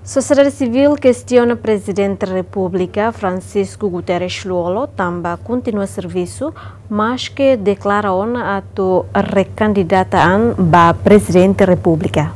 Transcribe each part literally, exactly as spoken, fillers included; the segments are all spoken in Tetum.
Sosiedade sivíl kestiona Prezidente Repúblika Francisco Guterres Lú-Olo tanba kontinua servisu, maske deklara ona atu rekandidata an ba Prezidente Repúblika.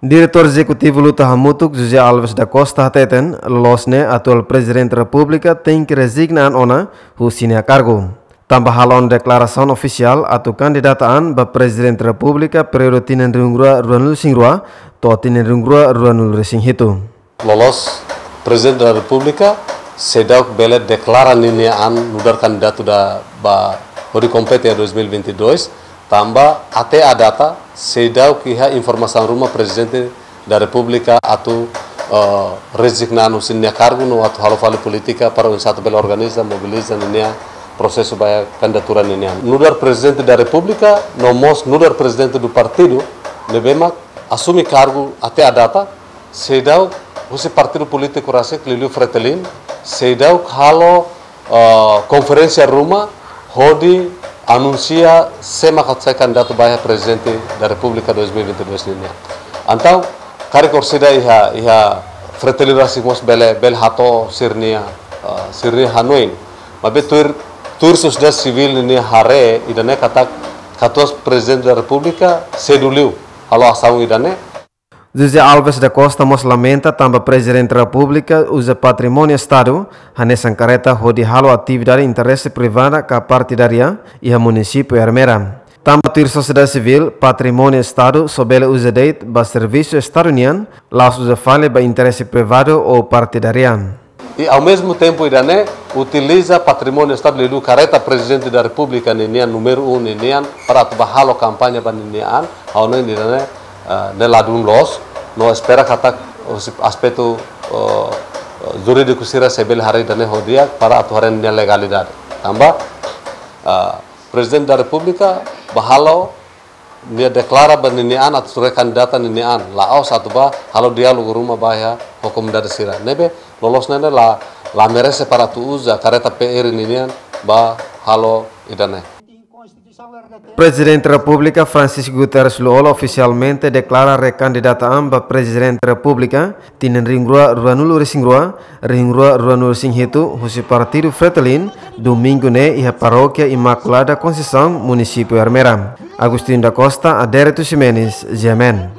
Diretór Ezekutivu Luta Hamutuk, José Alves da Costa, hateten, loloos ne'e atuál Prezidente Repúblika tenke rezigna an ona husi nia kargu, tanba halo ona deklarasaun ofisiál atu kandidata an ba Prezidente Repúblika períodu tinan rihun rua ruanulu-resin-rua to'o tinan rihun rua ruanulu-resin-hitu. Loloos, Prezidente da Repúblika seidauk bele deklara ninia an nu'udar kandidatu da ba hodi kompete iha dois mil e vinte e dois, tanba até à data seidauk iha informasaun ruma Prezidente da Repúblika atu, eh, rezigna an husi nia kargu no atu halo fali polítika para oinsá atu bele organiza, mobiliza ninia prosesu ba iha kandidatura ninian. Nu'udar Prezidente da Repúblika, no mós nu'udar Prezidente do Partidu, ne'ebé mak asume kargu até à data, seidauk husi partidu polítiku rasik, liuliu Fretilin, seidauk halo, eh, konferénsia ruma hodi anunsia sé mak atu sai kandidatu ba iha Prezidente da Repúblika dois mil e vinte e dois ninian. Entaun, karik orsida iha, iha Fretilin rasik mós bele, bele hato'o sira-nia, eh, sira-nia hanoin. Maibé tuir, tuir sosiedade sivíl ninia haree, ida-ne'e katak katuas Prezidente da Repúblika sedu liu halo asaun ida-ne'e. José Alves da Costa mós lamenta tanba Prezidente Repúblika uza patrimóniu Estadu, hanesan karreta, hodi halo atividade interese privada ka partidaria iha munisípiu Ermera. Tanba tuir sosiedade sivíl, patrimóniu Estadu só bele uza de'it ba servisu Estadu nian, la'ós uza fali ba interese privadu ou partidaria. I ao mesmo tempo ida-ne'e utiliza patrimóniu Estadu, liuliu karreta Prezidente da Repúblika ninian, númeru um ninian, para atu ba halo kampaña ba ninia an, ha'u hanoin ida-ne'e, eh, ne'e ladún loos, no espera katak husi aspetu, eh, jurídiku sira sei bele haree ida-ne'e ho di'ak para atu haree nia legalidade. Tanba, eh, Prezidente da Repúblika ba halo, nia deklara ba ninia an atu rekandidata ninia an, la'ós atu ba halo diálogu ruma ba iha ho komunidade sira. Ne'ebé loloos ne'e la, la merese para atu uza karreta P R ninian ba halo ida-ne'e. Prezidente Repúblika Francisco Guterres Lú-Olo ofisialmente deklara rekandidata an ba Prezidente Repúblika tinan rihun rua ruanulu-resin-rua, rihun rua ruanulu-resin-hitu husi partidu Fretilin, domingu ne'e iha Parókia Imaculada Conceição, munisípiu Ermera. Agostinho da Costa, Adérito Ximenes, G M N.